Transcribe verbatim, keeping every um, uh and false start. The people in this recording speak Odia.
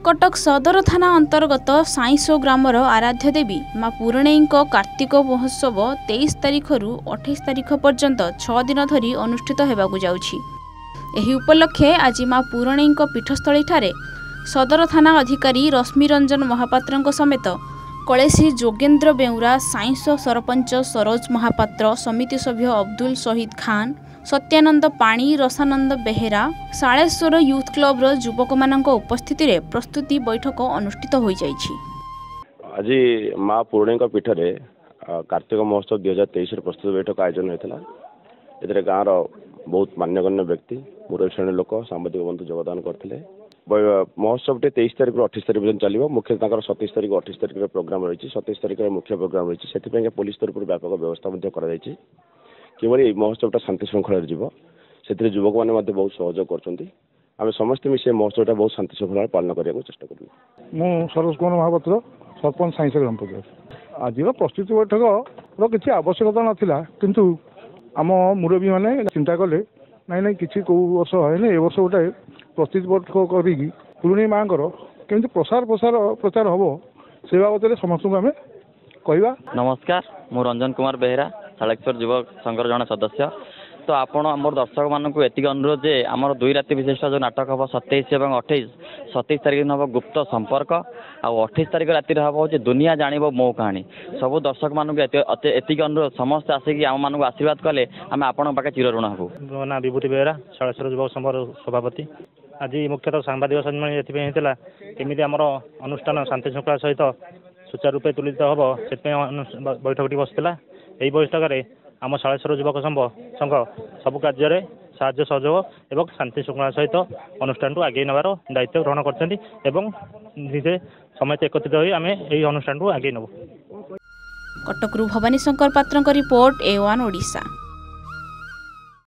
କଟକ ସଦର ଥାନା ଅନ୍ତର୍ଗତ ସାଇଁସୋ ଗ୍ରାମର ଆରାଧ୍ୟ ଦେବୀ ମା ପୁରୁଣେଇଙ୍କ କାର୍ତ୍ତିକ ମହୋତ୍ସବ ତେଇଶ ତାରିଖରୁ ଅଠେଇଶ ତାରିଖ ପର୍ଯ୍ୟନ୍ତ ଛଅ ଦିନ ଧରି ଅନୁଷ୍ଠିତ ହେବାକୁ ଯାଉଛି। ଏହି ଉପଲକ୍ଷେ ଆଜି ମା ପୁରୁଣେଇଙ୍କ ପୀଠସ୍ଥଳୀଠାରେ ସଦର ଥାନା ଅଧିକାରୀ ରଶ୍ମିରଞ୍ଜନ ମହାପାତ୍ରଙ୍କ ସମେତ କଳେସି ଯୋଗେନ୍ଦ୍ର ବେଉରା, ସାଇଁସୋ ସରପଞ୍ଚ ସରୋଜ ମହାପାତ୍ର, ସମିତି ସଭ୍ୟ ଅବଦୁଲ ସହିଦ ଖାନ, ସତ୍ୟାନନ୍ଦ ପାଣି, ରସାନନ୍ଦ ବେହେରା, ଶାଳେଶ୍ୱର ୟୁଥ୍ କ୍ଲବର ଯୁବକମାନଙ୍କ ଉପସ୍ଥିତିରେ ପ୍ରସ୍ତୁତି ବୈଠକ ଅନୁଷ୍ଠିତ ହୋଇଯାଇଛି। ଆଜି ମା ପୁରୁଣେଇଙ୍କ ପୀଠରେ କାର୍ତ୍ତିକ ମହୋତ୍ସବ ଦୁଇ ହଜାର ତେଇଶର ପ୍ରସ୍ତୁତି ବୈଠକ ଆୟୋଜନ ହୋଇଥିଲା। ଏଥିରେ ଗାଁର ବହୁତ ମାନ୍ୟଗଣ୍ୟ ବ୍ୟକ୍ତି, ମୁରବୀ ଶ୍ରେଣୀ ଲୋକ, ସାମ୍ବାଦିକ ବନ୍ଧୁ ଯୋଗଦାନ କରିଥିଲେ। ମହୋତ୍ସବଟି ତେଇଶ ତାରିଖରୁ ଅଠେଇଶ ତାରିଖ ପର୍ଯ୍ୟନ୍ତ ଚାଲିବ। ମୁଖ୍ୟ ତାଙ୍କର ସତେଇଶ ତାରିଖ, ଅଠେଇଶ ତାରିଖରେ ପ୍ରୋଗ୍ରାମ ରହିଛି। ସତେଇଶ ତାରିଖରେ ମୁଖ୍ୟ ପ୍ରୋଗ୍ରାମ ରହିଛି। ସେଥିପାଇଁ ପୋଲିସ ତରଫରୁ ବ୍ୟାପକ ବ୍ୟବସ୍ଥା ମଧ୍ୟ କରାଯାଇଛି, କିଭଳି ଏହି ମହୋତ୍ସବଟା ଶାନ୍ତି ଶୃଙ୍ଖଳାରେ ଯିବ। ସେଥିରେ ଯୁବକମାନେ ମଧ୍ୟ ବହୁତ ସହଯୋଗ କରୁଛନ୍ତି। ଆମେ ସମସ୍ତେ ମିଶି ଏ ମହୋତ୍ସବଟା ବହୁତ ଶାନ୍ତି ଶୃଙ୍ଖଳାରେ ପାଳନ କରିବାକୁ ଚେଷ୍ଟା କରିବୁ। ମୁଁ ସରୋଜ କୁମାର ମହାପାତ୍ର, ସରପଞ୍ଚ, ସାଇଁସ ଗ୍ରାମ ପଞ୍ଚାୟତ। ଆଜିର ପ୍ରସ୍ତୁତି ବୈଠକର କିଛି ଆବଶ୍ୟକତା ନଥିଲା, କିନ୍ତୁ ଆମ ମୁରବୀମାନେ ଚିନ୍ତା କଲେ, ନାଇଁ ନାଇଁ, କିଛି କେଉଁ ବର୍ଷ ହେଇନି, ଏ ବର୍ଷ ଗୋଟେ ପ୍ରସ୍ତୁତି ବୈଠକ କରିକି ପୁରୁଣେଇ ମାଆଙ୍କର କେମିତି ପ୍ରସାର ପ୍ରସାର ପ୍ରଚାର ହେବ, ସେ ବାବଦରେ ସମସ୍ତଙ୍କୁ ଆମେ କହିବା। ନମସ୍କାର, ମୁଁ ରଞ୍ଜନ କୁମାର ବେହେରା, ଶାଳେଶ୍ୱର ଯୁବକ ସଂଘର ଜଣେ ସଦସ୍ୟ। ତ ଆପଣ ଆମର ଦର୍ଶକମାନଙ୍କୁ ଏତିକି ଅନୁରୋଧ ଯେ ଆମର ଦୁଇ ରାତି ବିଶିଷ୍ଟ ଯେଉଁ ନାଟକ ହେବ, ସତେଇଶ ଏବଂ ଅଠେଇଶ, ସତେଇଶ ତାରିଖ ଦିନ ହେବ ଗୁପ୍ତ ସମ୍ପର୍କ, ଆଉ ଅଠେଇଶ ତାରିଖ ରାତିରେ ହେବ ହେଉଛି ଦୁନିଆ ଜାଣିବ ମୋ କାହାଣୀ। ସବୁ ଦର୍ଶକମାନଙ୍କୁ ଏତିକି ଅନୁରୋଧ, ସମସ୍ତେ ଆସିକି ଆମମାନଙ୍କୁ ଆଶୀର୍ବାଦ କଲେ ଆମେ ଆପଣଙ୍କ ପାଖେ ଚିରଋଣ ହେବୁ। ମୋ ନାଁ ବିଭୂତି ବେହେରା, ଶାଳେଶ୍ୱର ଯୁବକ ସଂଘର ସଭାପତି। ଆଜି ମୁଖ୍ୟତଃ ସାମ୍ବାଦିକ ସମ୍ମିଳନୀ ଏଥିପାଇଁ ହେଇଥିଲା, କେମିତି ଆମର ଅନୁଷ୍ଠାନ ଶାନ୍ତି ଶୃଙ୍ଖଳା ସହିତ ସୁଚାରୁ ରୂପେ ତୁଲିତ ହେବ, ସେଥିପାଇଁ ବୈଠକଟି ବସିଥିଲା। ଏହି ବୈଠକରେ ଆମ ଶାଳେଶ୍ୱର ଯୁବକ ସଂଘ ସଂଘ ସବୁ କାର୍ଯ୍ୟରେ ସାହାଯ୍ୟ ସହଯୋଗ ଏବଂ ଶାନ୍ତି ଶୃଙ୍ଖଳା ସହିତ ଅନୁଷ୍ଠାନକୁ ଆଗେଇ ନେବାର ଦାୟିତ୍ୱ ଗ୍ରହଣ କରିଛନ୍ତି ଏବଂ ନିଜେ ସମସ୍ତେ ଏକତ୍ରିତ ହୋଇ ଆମେ ଏହି ଅନୁଷ୍ଠାନକୁ ଆଗେଇ ନେବୁ। କଟକରୁ ଭବାନୀ ଶଙ୍କର ପାତ୍ରଙ୍କ ରିପୋର୍ଟ, ଏ ୱାନ୍ ଓଡ଼ିଶା।